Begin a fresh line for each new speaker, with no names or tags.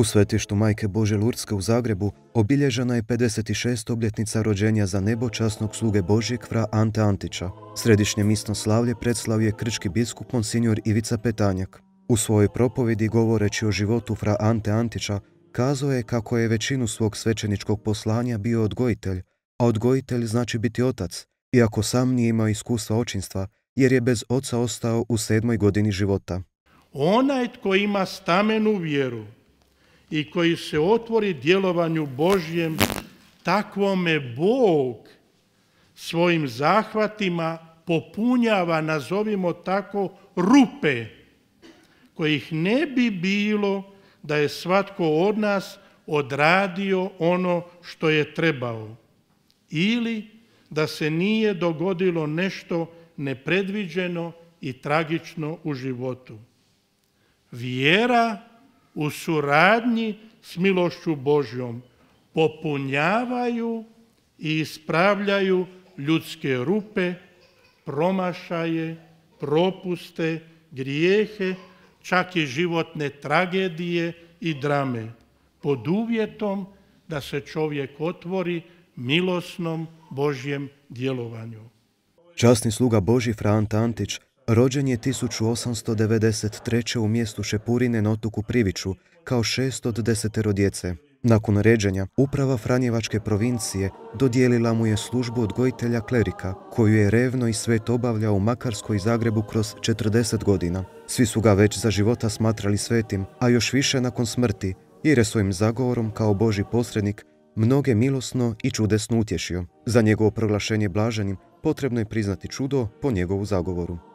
U svetištu Majke Božje Lurdske u Zagrebu obilježena je 56. obljetnica rođenja za nebo časnog sluge Božjeg fra Ante Antića. Središnje misno slavlje predslavio je krčki biskup Monsignor Ivica Petanjak. U svojoj propovjedi govoreći o životu fra Ante Antića, kazao je kako je većinu svog svećeničkog poslanja bio odgojitelj, a odgojitelj znači biti otac, iako sam nije imao iskustva očinstva, jer je bez oca ostao u 7. godini života.
Onaj tko ima stamenu vjeru i koji se otvori djelovanju Božjem, takvome Bog svojim zahvatima popunjava, nazovimo tako, rupe, kojih ne bi bilo da je svatko od nas odradio ono što je trebao, ili da se nije dogodilo nešto nepredviđeno i tragično u životu. Vjera u suradnji s milošću Božjom popunjavaju i ispravljaju ljudske rupe, promašaje, propuste, grijehe, čak i životne tragedije i drame, pod uvjetom da se čovjek otvori milosnom Božjem djelovanju.
Časni sluga Božji fra Ante Antić rođen je 1893. u mjestu Šepurine na otoku Priviću kao 6 od 10 djece. Nakon ređenja, uprava Franjevačke provincije dodijelila mu je službu odgojitelja klerika, koju je revno i svet obavljao u Makarskoj i Zagrebu kroz 40 godina. Svi su ga već za života smatrali svetim, a još više nakon smrti, jer je svojim zagovorom kao Božji posrednik mnoge milosno i čudesno utješio. Za njegovo proglašenje blaženim potrebno je priznati čudo po njegovu zagovoru.